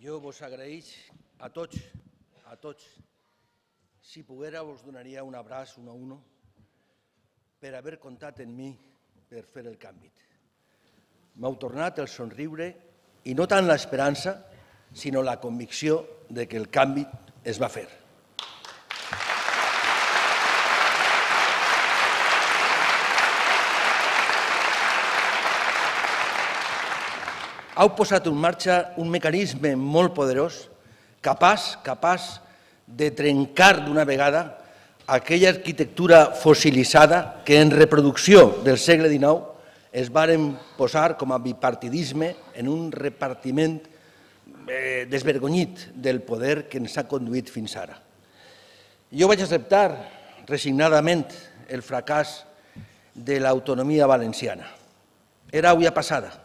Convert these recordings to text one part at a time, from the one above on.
Jo vos agraïx a tots, si poguera vos donaria un abraç un a uno per haver comptat en mi per fer el canvi. M'heu tornat el somriure i no tant l'esperança, sinó la convicció de que el canvi es va fer. Heu posat en marxa un mecanisme molt poderós, capaç de trencar d'una vegada aquella arquitectura fossilitzada que en reproducció del segle XIX es varen posar com a bipartidisme en un repartiment desvergonyit del poder que ens ha conduït fins ara. Jo vaig acceptar resignadament el fracàs de l'autonomia valenciana. Era olla passada.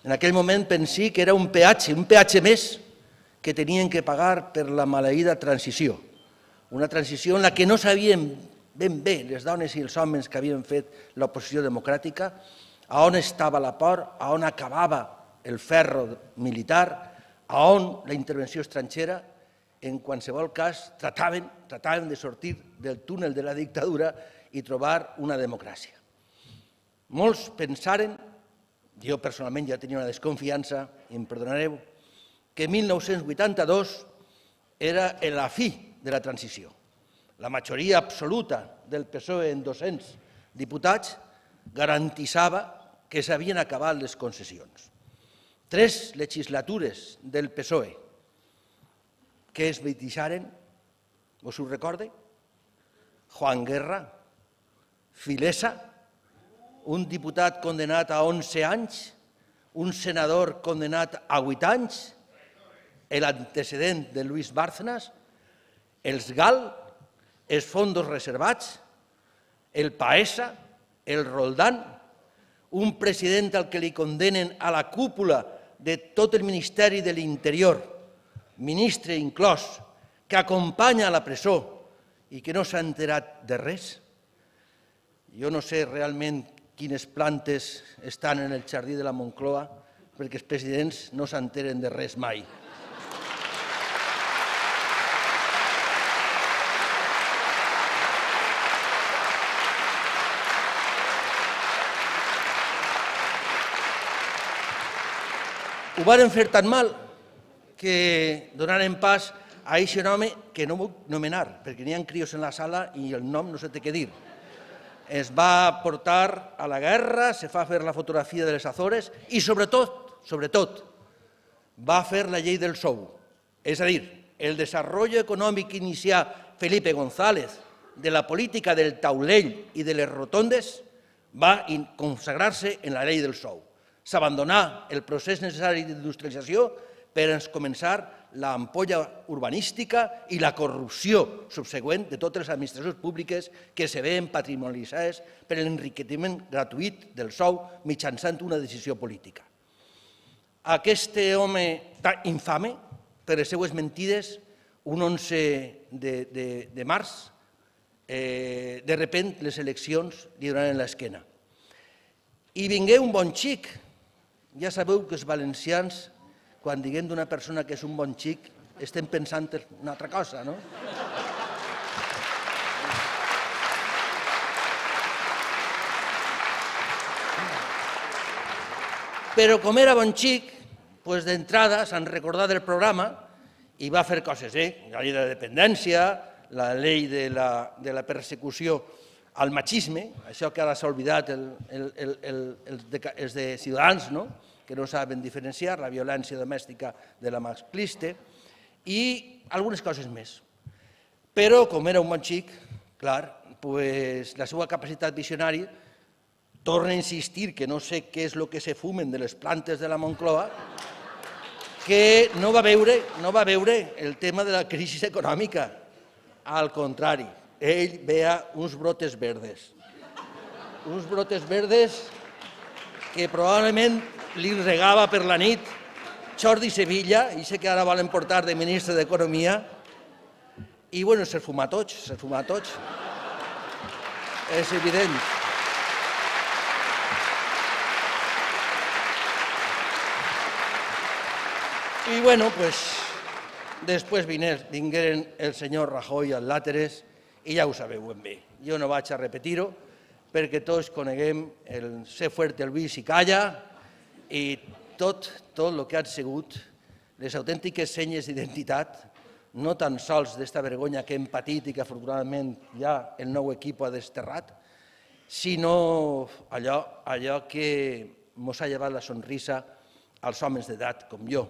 En aquell moment pensé que era un peatge més que tenien que pagar per la maleïda transició. Una transició en la que no sabien ben bé les dones i els homes que havien fet l'oposició democràtica a on estava la por, a on acabava el ferro militar, a on la intervenció estrangera. En qualsevol cas, trataven de sortir del túnel de la dictadura i trobar una democràcia. Molts pensaren, jo personalment ja tenia una desconfiança, i em perdonareu, que 1982 era la fi de la transició. La majoria absoluta del PSOE en 200 diputats garantitzava que s'havien acabat les concessions. 3 legislatures del PSOE que es deixaren, us ho recorde? Juan Guerra, Filesa, un diputat condenat a 11 anys, un senador condenat a 8 anys, l'antecedent de Luis Bárcenas, els GAL, els fondos reservats, el PAESA, el Roldán, un president al que li condenen a la cúpula de tot el Ministeri de l'Interior, ministre inclòs, que acompanya a la presó i que no s'ha enterat de res. Jo no sé realment quines plantes estan en el jardí de la Moncloa perquè els presidents no s'enteren de res mai. Ho varen fer tan mal que donaren pas a aquest home que no vull nomenar, perquè n'hi ha crios en la sala i el nom no sé què dir. Es va portar a la guerra, se va fer la fotografia de les Azores i, sobretot, va fer la llei del sou. És a dir, el desenvolupament econòmic que inicià Felipe González de la política del taulell i de les rotondes va consagrar-se en la llei del sou. S'abandonà el procés necessari d'industrialització per començar l'ampolla urbanística i la corrupció subsegüent de totes les administracions públiques que se veien patrimonialitzades per l'enriquiment gratuït del sou mitjançant una decisió política. Aquest home tan infame, per les seues mentides, un 11 de març, de repent les eleccions li donaren l'esquena. I vingué un bon xic. Ja sabeu que els valencians, quan diguem d'una persona que és un bon xic, estem pensant en una altra cosa, no? Però com era bon xic, d'entrada s'han recordat del programa i va fer coses, la llei de la dependència, la llei de la persecució al machisme, això que ara s'ha oblidat els de Ciutadans, que no saben diferenciar la violència domèstica de la masclista, i algunes coses més. Però, com era un bon xic, clar, la seva capacitat visionària torna a insistir que no sé què és el que se fumen de les plantes de la Moncloa, que no va veure el tema de la crisi econòmica. Al contrari, ell veia uns brotes verdes que probablement li regava per la nit Jordi Sevilla, i sé que ara volen portar de ministre d'Economia, i bueno, se'ls fuma tots, és evident. I, bueno, després vingueren el senyor Rajoy al Láteres i ja ho sabeu ben bé. Jo no vaig a repetir-ho perquè tots coneguem el ser fuerte el vi si calla i tot el que han sigut les autèntiques senyes d'identitat, no tan sols d'esta vergonya que hem patit i que afortunadament ja el nou equip ha desterrat, sinó allò que ens ha llevat la sonrisa als homes d'edat com jo,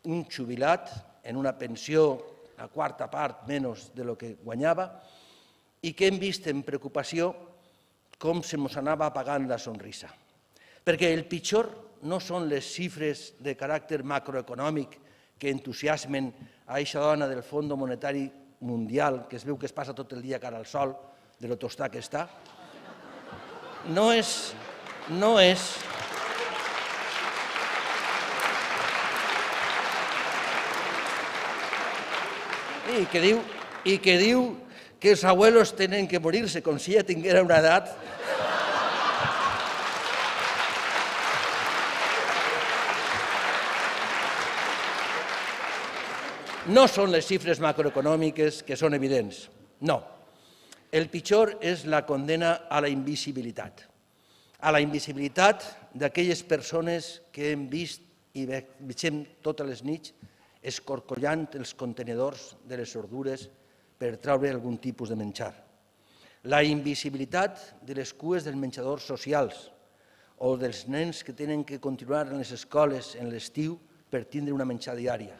un jubilat en una pensió la quarta part menys de lo que guanyava i que hem vist amb preocupació com se mos anava apagant la sonrisa. Perquè el pitjor no són les xifres de caràcter macroeconòmic que entusiasmen a aquesta dona del Fons Monetari Mundial, que es veu que es passa tot el dia cara al sol, de lo tostat que està. No és... I que diu que els abuelos tenen que morir-se, com si ja tinguera una edat. No són les xifres macroeconòmiques que són evidents, no. El pitjor és la condena a la invisibilitat d'aquelles persones que hem vist i veiem totes les nits escorcollant els contenidors de les ordures per treure algun tipus de menjar. La invisibilitat de les cues dels menjadors socials o dels nens que tenen que continuar en les escoles en l'estiu per tindre una menjar diària.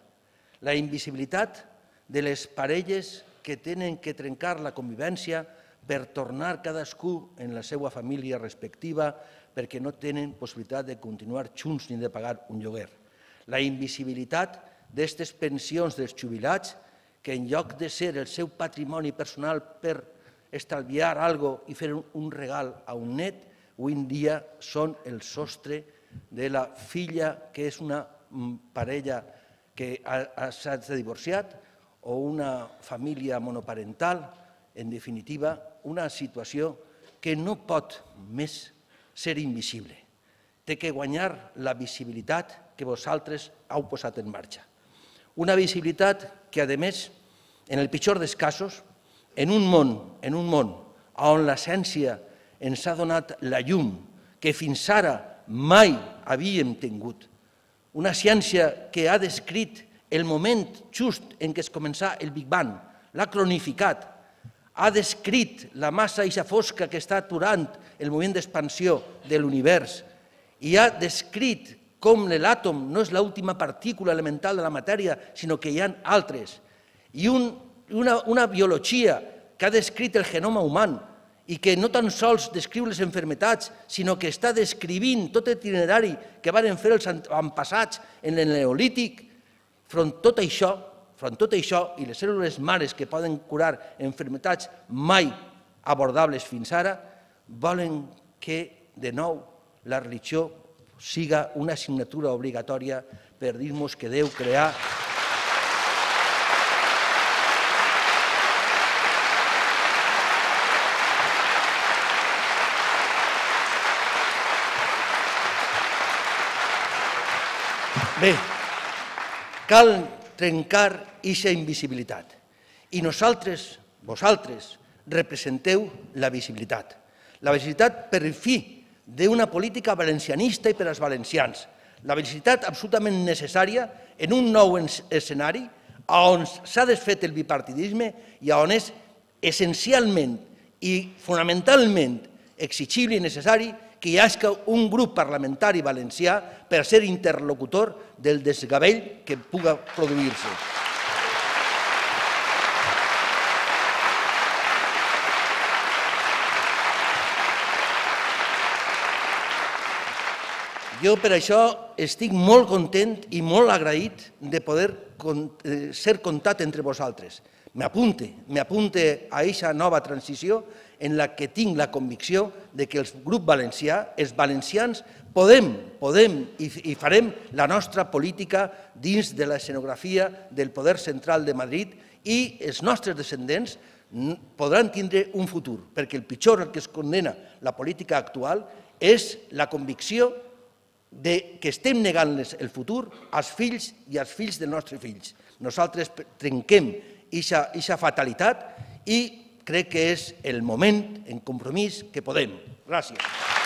La invisibilitat de les parelles que tenen que trencar la convivència per tornar cadascú en la seva família respectiva perquè no tenen possibilitat de continuar junts ni de pagar un lloguer. La invisibilitat d'aquestes pensions dels jubilats que en lloc de ser el seu patrimoni personal per estalviar alguna cosa i fer un regal a un net, avui en dia són el sostre de la filla que és una parella que s'ha divorciat o una família monoparental, en definitiva, una situació que no pot més ser invisible. Té que guanyar la visibilitat que vosaltres heu posat en marxa. Una visibilitat que, a més, en el pitjor dels casos, en un món on la ciència ens ha donat la llum que fins ara mai havíem tingut, una ciència que ha descrit el moment just en què es començà el Big Bang, l'ha cronificat, ha descrit la massa eixa fosca que està aturant el moment d'expansió de l'univers i ha descrit com l'àtom no és l'última partícula elemental de la matèria, sinó que hi ha altres, i una biologia que ha descrit el genoma humà i que no tan sols descriu les malalties, sinó que està descrivint tot l'itinerari que van fer els avantpassats en el Neolític. Front tot això i les cèl·lules mares que poden curar malalties mai abordables fins ara, volen que, de nou, la religió siga una assignatura obligatòria per dir-nos que Déu creà Bé, cal trencar aquesta invisibilitat i vosaltres representeu la visibilitat. La visibilitat per fi d'una política valencianista i per als valencians. La visibilitat absolutament necessària en un nou escenari on s'ha desfet el bipartidisme i on és essencialment i fonamentalment exigible i necessari que hi hagi un grup parlamentari valencià per ser interlocutor del desgavell que puga produir-se. Jo per això estic molt content i molt agraït de poder ser comptat entre vosaltres. M'apunte a aquesta nova transició en la que tinc la convicció que el grup valencià, els valencians, podem i farem la nostra política dins de l'escenografia del poder central de Madrid i els nostres descendents podran tindre un futur, perquè el pitjor que es condena la política actual és la convicció que estem negant-les el futur als fills i als fills dels nostres fills. Nosaltres trenquem aquesta fatalitat i crec que és el moment, en compromís, que podem. Gràcies.